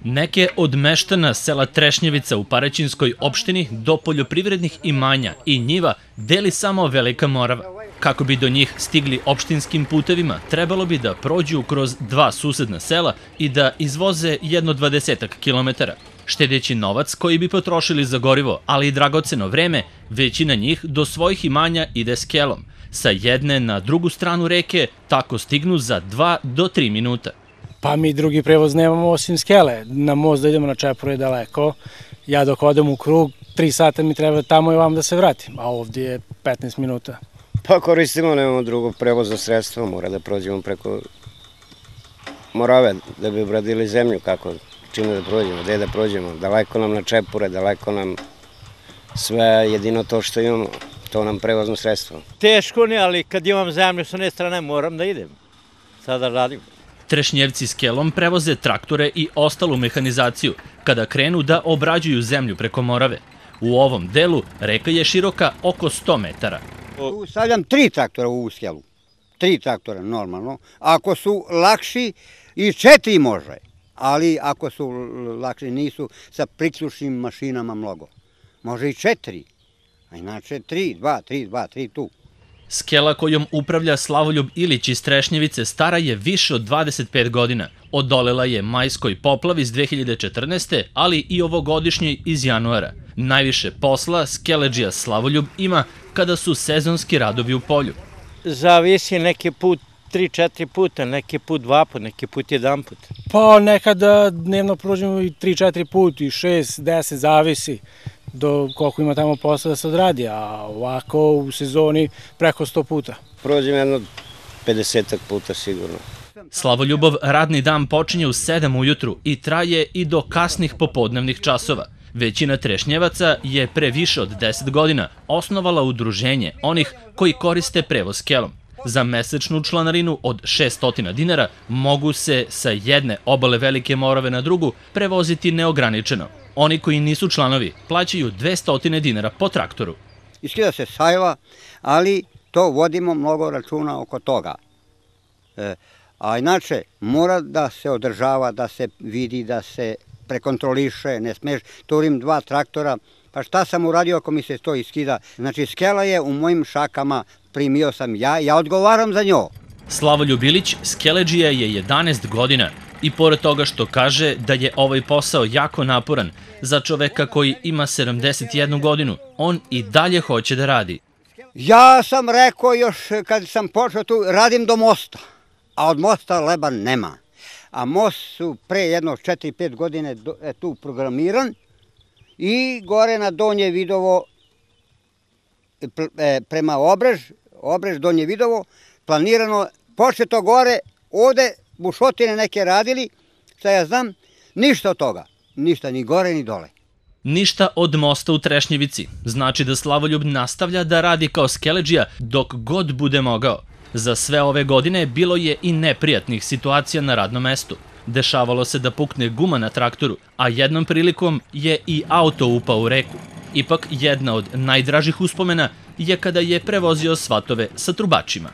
Neke od meštana sela Trešnjevica u Paraćinskoj opštini do poljoprivrednih imanja i njiva deli samo Velika Morava. Kako bi do njih stigli opštinskim putevima, trebalo bi da prođu kroz dva susedna sela i da izvoze jedno 20 kilometara. Štedeći novac koji bi potrošili za gorivo, ali i dragoceno vreme, većina njih do svojih imanja ide skelom. Sa jedne na drugu stranu reke tako stignu za 2 do 3 minuta. Pa mi drugi prevoz nemamo osim skele. Na most da idemo na Čepuru je daleko. Ja dok odem u krug, 3 sata mi treba tamo i vam da se vratim, a ovdje je 15 minuta. Pa koristimo, nemamo drugo prevozno sredstvo, mora da prođemo preko Morave da bi obradili zemlju, kako, čime da prođemo, gde da prođemo. Daleko nam na Čepure, daleko nam sve, jedino to što imamo, to nam prevozno sredstvo. Teško ne, ali kad imam zemlju s one strane moram da idem, sada radim. Trešnjevci skelom prevoze traktore i ostalu mehanizaciju kada krenu da obrađuju zemlju preko Morave. U ovom delu reka je široka oko 100 metara. Stavljam 3 traktora u ovu skelu. 3 traktora normalno. Ako su lakši i 4 može. Ali ako su lakši nisu sa priključnim mašinama mnogo. Može i 4. A inače 3 tu. Skela kojom upravlja Slavoljub Ilić iz Trešnjevice stara je više od 25 godina. Odolela je majskoj poplavi iz 2014. ali i ovogodišnjoj iz januara. Najviše posla skeledžija Slavoljub ima kada su sezonski radovi u polju. Zavisi neki put 3-4 puta, neki put 2 puta, neki put 1 put. Pa nekada dnevno prođemo i 3-4 puta, i 6-10, zavisi do koliko ima tamo posla da se odradi, a ovako u sezoni preko 100 puta. Prođem jedno 50 puta sigurno. Slavoljubov radni dan počinje u 7 ujutru i traje i do kasnih popodnevnih časova. Većina Trešnjevaca je pre više od 10 godina osnovala udruženje onih koji koriste prevoz skelom. Za mesečnu članarinu od 600 dinara mogu se sa jedne obale Velike Morave na drugu prevoziti neograničeno. Oni koji nisu članovi plaćaju 200 dinara po traktoru. Iskida se sajva, ali to vodimo mnogo računa oko toga. A inače, mora da se održava, da se vidi, da se prekontroliše, ne smeš, turim 2 traktora, pa šta sam uradio ako mi se to iskida? Znači, skela je u mojim šakama, primio sam ja odgovaram za njo. Slavoljub Ilić skeledžija je 11 godina i pored toga što kaže da je ovaj posao jako naporan, za čoveka koji ima 71 godinu, on i dalje hoće da radi. Ja sam rekao još kad sam počeo tu, radim do mosta, a od mosta leba nema. A most su pre jedno 4-5 godine tu programiran i gore na Donje Vidovo, prema Obrež, Donje Vidovo, planirano, početo gore, ovde bušotine neke radili, šta ja znam, ništa od toga, ništa, ni gore ni dole. Ništa od mosta u Trešnjevici, znači da Slavoljub nastavlja da radi kao skeledžija dok god bude mogao. Za sve ove godine bilo je i neprijatnih situacija na radnom mestu. Dešavalo se da pukne guma na traktoru, a jednom prilikom je i auto upao u reku. Ipak jedna od najdražih uspomena je kada je prevozio svatove sa trubačima.